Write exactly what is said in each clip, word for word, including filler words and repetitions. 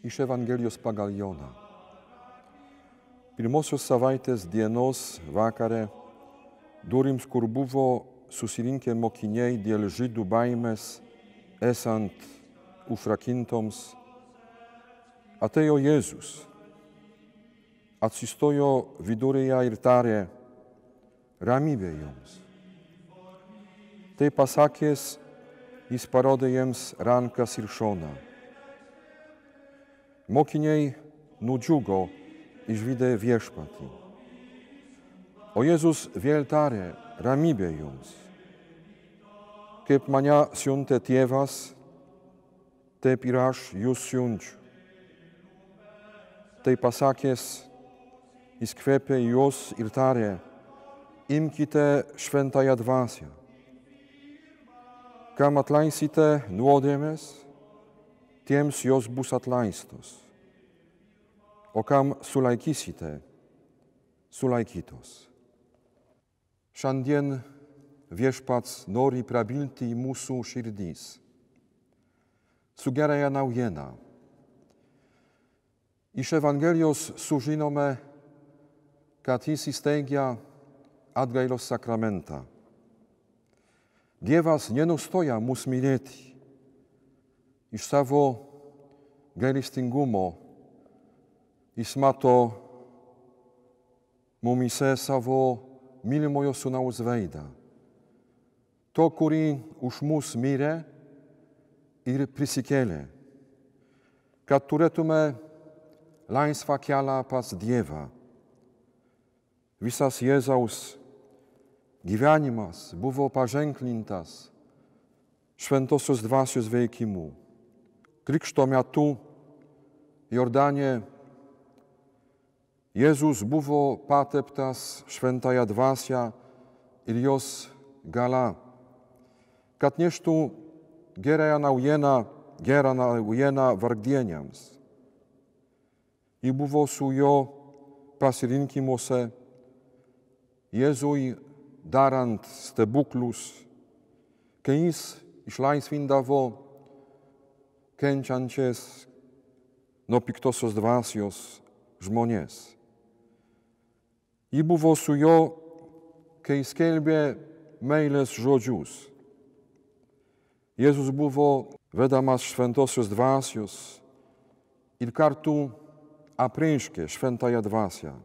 iš Evangelijos pagal Joną. Pirmosios savaitės dienos vakare, durims, kur buvo susirinkę mokiniai dėl žydų baimės, esant užrakintoms, atėjo Jėzus, atsistojo viduryje ir tarė: ramybė jums. Tai pasakęs, jis parodė jiems rankas ir šoną. Mokiniai nudžiugo išvydę viešpatį. O Jėzus vėl tarė: ramybė jums. Kaip mane siuntė tėvas, taip ir aš jūs siunčiu. Tai pasakęs, jis kvėpė juos ir tarė: imkite šventąją dvasią. Kam atleisite nuodėmes, tiems jos bus atleistos. O kam sulaikysite, sulaikytos. Šiandien viešpats nori prabilti į mūsų širdis su gerąja naujiena. Iš Evangelijos sužinome, kad jis įsteigia atgailos sakramentą. Dievas nenustoja mus mylėti. Iš savo gailestingumo jis mato mumise savo mylimojo sūnaus veidą. To, kurį už mus mirė ir prisikėlė, kad turėtume laisvą kelią pas Dievą. Visas Jėzaus gyvenimas buvo paženklintas šventosios dvasios veikimu. Krikšto metu Jordanie Jėzus buvo pateptas šventąją dvasią ir jos gala, kad neštų gerąją naujieną, gerą naujieną vargdieniams. Ji buvo su jo pasirinkimuose, Jėzui darant stebuklus, kai jis išlaisvindavo kenčiančias nuo piktosios dvasios žmonės. Ji buvo su juo, kai skelbė meilės žodžius. Jėzus buvo vedamas šventosios dvasios ir kartu apreiškė šventąją dvasią.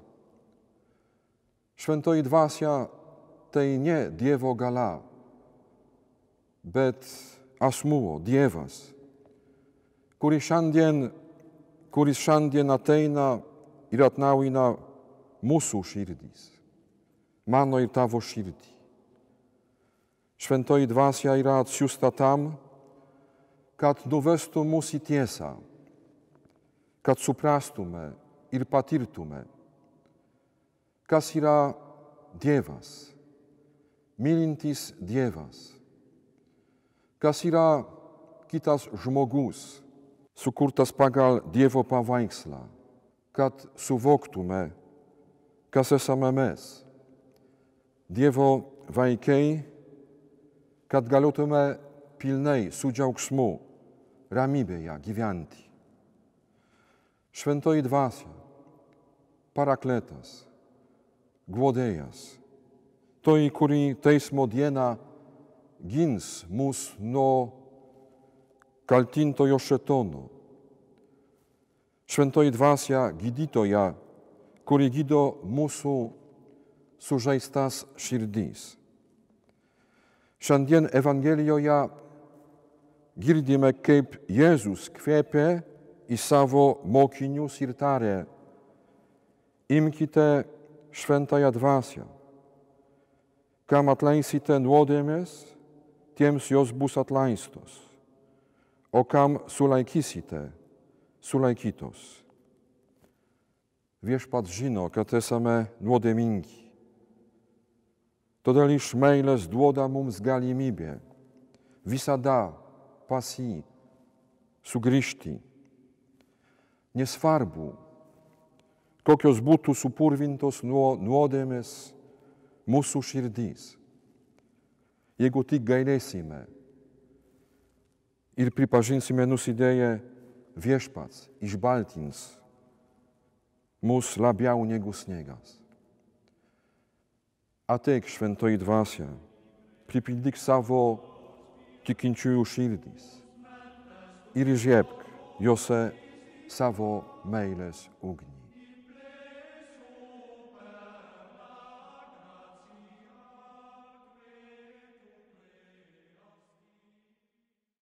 Šventoji dvasia tai ne Dievo gala, bet asmuo, Dievas, kuris šiandien, kuris šiandien ateina ir atnaujina mūsų širdis, mano ir tavo širdį. Šventoji dvasia yra atsiųsta tam, kad nuvestų mus į tiesą, kad suprastume ir patirtume, kas yra Dievas, mylintis Dievas, kas yra kitas žmogus, sukurtas pagal Dievo paveikslą, kad suvoktume, kas esame mes, Dievo vaikai, kad galėtume pilnai su džiaugsmu ramybėje gyventi. Šventoji dvasia, parakletas, guodėjas, toj, kuri teismo dieną gins mus nuo kaltintojo šėtono. Šventoji dvasia gydytoja, kuri gydo mūsų sužeistas širdis. Šiandien Evangelijoje girdime, kaip Jėzus kvėpė į savo mokinius ir tarė: imkite šventąją dvasią. Kam atleisite nuodėmes, tiems jos bus atleistos. O kam sulaikysite, sulaikytos. Viešpats žino, kad esame nuodėmingi. Todėl iš meilės duoda mums galimybę visada pas jį sugrįžti. Nesvarbu, kokios būtų supurvintos nuo nuodėmės mūsų širdis. Jeigu tik gailėsime ir pripažinsime nusidėję, viešpats išbaltins mus labiau negu sniegas. Ateik, šventoji dvasia, pripildyk savo tikinčiųjų širdis ir įžiebk jose savo meilės ugnį.